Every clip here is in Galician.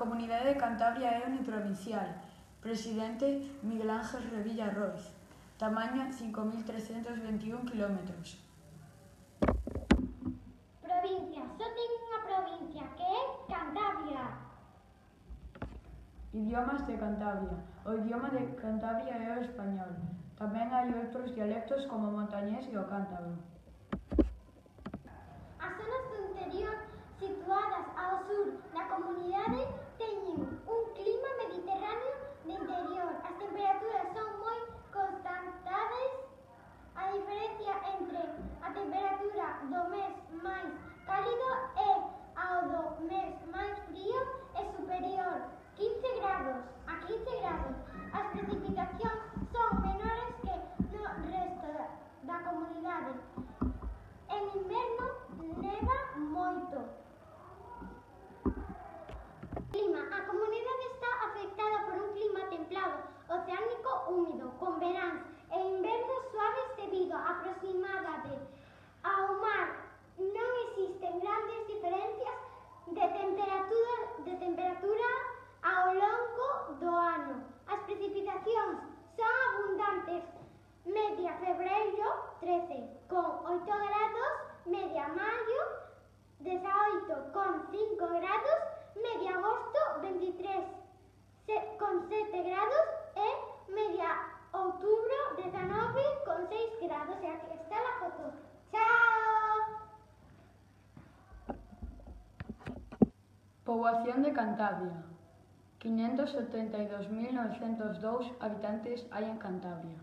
Comunidade de Cantabria é uniprovincial. Presidente Miguel Ángel Revilla Roiz. Tamaño 5.321 km. Provincia. Só ten unha provincia, que é Cantabria. Idiomas de Cantabria. O idioma de Cantabria é o español. Tamén hai outros dialectos como o montañés e o cántabro. As zonas do interior situadas ao sur da comunidade teñen un clima mediterráneo de interior. As temperaturas son moi constantes. A diferencia entre a temperatura do mes máis cálido e ao do mes máis frío é superior 15 grados a 15 grados. As precipitacións son menores que no resto da comunidade. En inverno neva moito. Clima. A comunidade está afectada por un clima templado, oceánico húmido, con veráns e invernos suaves debido á proximidade ao mar. Non existen grandes diferencias de temperatura ao longo do ano. As precipitacións son abundantes. Media febreiro 13 con 8 grados, media maio 18 con 5 grados, media agosto 23 con 7 grados e media outubro 19 con 6 grados. E aquí está la foto. ¡Chao! Poboación de Cantabria. 572.902 habitantes hai en Cantabria.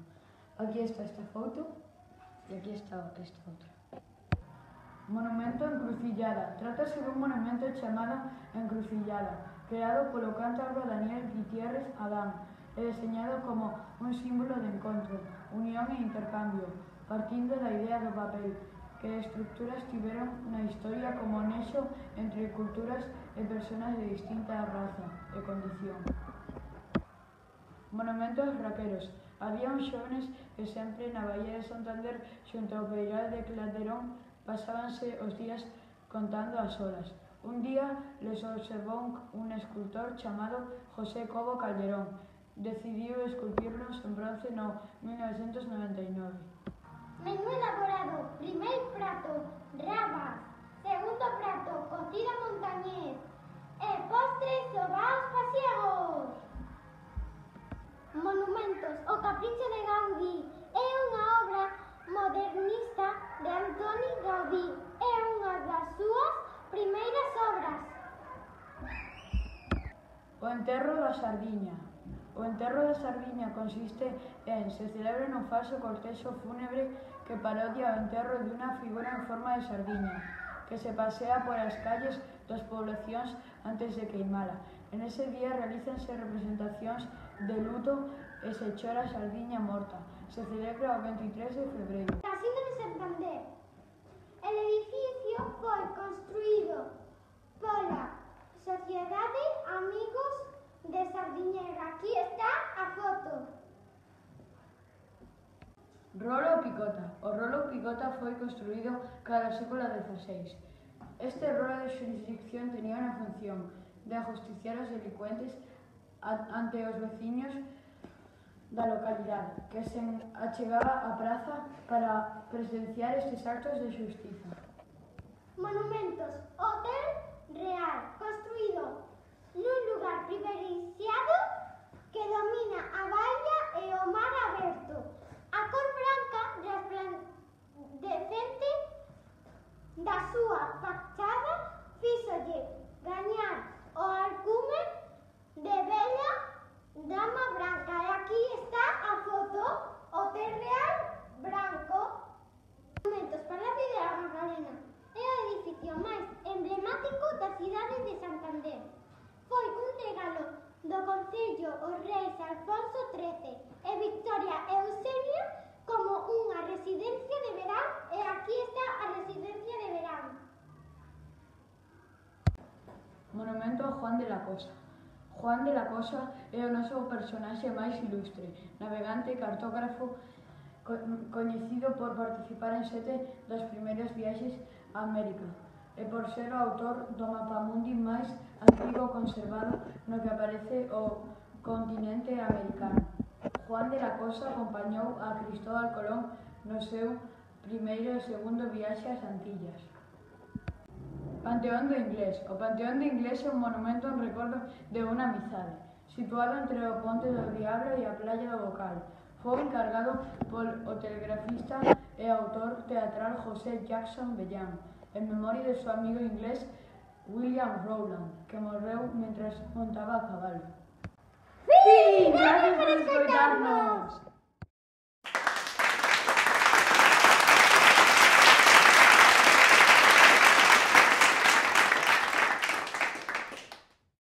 Aquí está esta foto e aquí está esta outra. Monumento Encrucillada. Trátase dun monumento chamado Encrucillada, creado polo cántabro Daniel Gutiérrez Adán e deseñado como un símbolo de encontro, unión e intercambio, partindo da idea do papel, que estructuras tiveron na historia como nexo entre culturas e persoas de distinta raza e condición. Monumentos raqueros. Había uns xóvenes que sempre na Baía de Santander xunto ao Peirao de Claterón pasábanse os días contando as horas. Un día les observou un escultor chamado José Cobo Calderón. Decidiu esculpirlos en bronce no 1999. Menú elaborado. Primeiro prato, rabas. Segundo prato, cocida montañés. E postre, sobaos pasiegos. Monumentos. O Capricho de Gaudí é unha obra modernista de Antoni Gaudí. É unha das súas primeiras obras. O enterro da sardiña. O enterro da sardiña consiste en se celebra un falso cortexo fúnebre que parodia o enterro dunha figura en forma de sardiña, que se pasea por as calles das poblacións antes de queimala. En ese día realízanse representacións de luto e se chora a sardiña morta. Se celebra o 23 de febreiro. Casino de Santander. El edificio foi construído pola Sociedade Amigos de Sardiñera. Aquí está a foto. Rolo Picota. O rolo Picota foi construído cara ao século XVI. Este rolo de xurisdicción tenía unha función de ajusticiar os delincuentes ante os veciños da localidade, que se achegaba á praza para presenciar estes actos de xustiza. Monumentos. Hotel Real, construído nun lugar privilexiado que domina a baía e o mar aberto. A cor branca resplandecente da súa fachada fíxolle gañar o alcume de bella dama branca. E aquí está a foto. Hotel Real branco. Monumentos. Palacio de la Magdalena é o edificio máis emblemático da cidade de Santander. Foi un regalo do Concello os reis Alfonso XIII e Victoria Eusebia como unha residencia de verán, e aquí está a residencia de verán. Monumento a Juan de la Cosa. Juan de la Cosa é o noso personaxe máis ilustre, navegante e cartógrafo coñecido por participar en 7 das primeiras viaxes a América e por ser o autor do mapamundi máis antigo conservado no que aparece o continente americano. Juan de la Cosa acompañou a Cristóbal Colón no seu primeiro e segundo viaxe ás Antillas. Panteón do Inglés. O Panteón do Inglés é un monumento en recordo de unha amizade, situado entre o Ponte do Diablo e a Playa do Bocal. Foi encargado polo telegrafista e autor teatral José Jackson Bellan, en memoria de seu amigo inglés William Rowland, que morreu mentras montaba a cabalo. ¡Fin! Gracias por escoitarnos!